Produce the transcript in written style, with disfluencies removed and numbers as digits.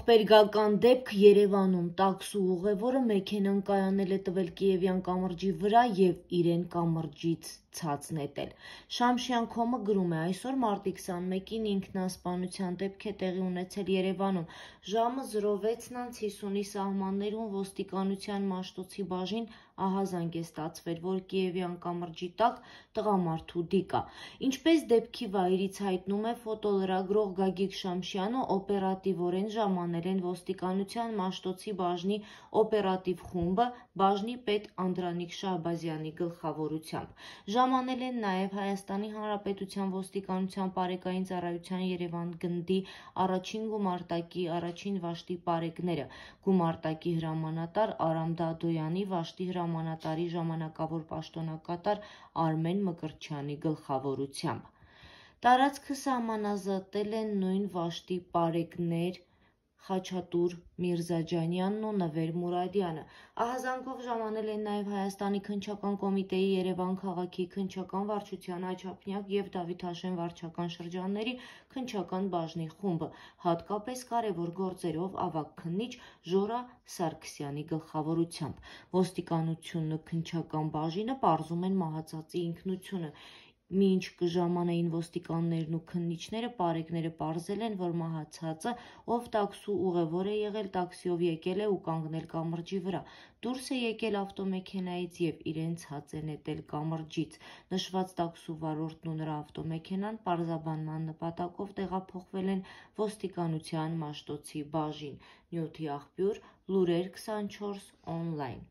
Ողբերգական դեպք Երևանում տաքսու ուղևորը մեքենան կայանել է տվել Կիևյան կամրջի վրա և իրեն կամրջից ցած նետել։ Շամշյան.com-ը գրում է. այսօր մարտի 21-ին ինքնասպանության դեպք է տեղի ունեցել Երևանում։ Ժամը 06:50-ի սահմաններում ոստիկանության Մաշտոցի բաժին ահազանգ է ստացվել, որ Կիևյան կամրջի տակ տղամարդու դիկ կա։ Ինչպես դեպքի վայրից հայտնում է ֆոտոլրագրող Գագիկ Շամշյանը, օպերատիվորեն ժամանել են ոստիկանության Մաշտոցի բաժնի օպերատիվ խումբը բաժնի պետ Անդրանիկ Շահբազյանի գլխավորությամբ։ Ժամանել են նաև Հայաստանի Հանրապետության ոստիկանության պարեկային ծառայության Երևան գնդի առաջին գումարտակի առաջին վաշտի պարեկները, գումարտակի հրամանատար Արամ Դադոյանի, վաշտի հրամանատարի ժամանակավոր պաշտոնակատար Արմեն Մկրտչյանի գլխավորությամբ։ Տարածքը սահմանազատել են նույն վաշտի պարեկներ Խաչատուր Միրզաջանյանն ու Նվեր Մուրադյանը։ Ահազանգով ժամանել են նաև Հայաստանի Քննչական կոմիտեի Երևան քաղաքի քննչական վարչության Աչափնյակ և Դավիթ վարչական շրջանների քննչական բաժնի խումբը, հատկապես կարևոր գործերով ավագ քննիչ Ժորա Սարգսյանի գլխավորությամբ։ Ոստիկանությունն ու քննչական բաժինը պարզում են մահացածի ինքնությունը։ Մինչ կժամանեին ոստիկաններն ու քննիչները, պարեկները պարզել են, որ մահացածը, ով տաքսու ուղևոր է եղել, տաքսիով եկել է ու կանգնել կամրջի վրա, դուրս է եկել ավտոմեքենայից և իրեն ցած է նետել կամրջից։ Նշված տաքսու վարորդն ու նրա ավտոմեքենան պարզաբանման նպատակով տեղափոխվել են ոստիկանության Մաշտոցի բաժին։ Նյութի աղբյուր՝ Լուրեր 24 օնլայն։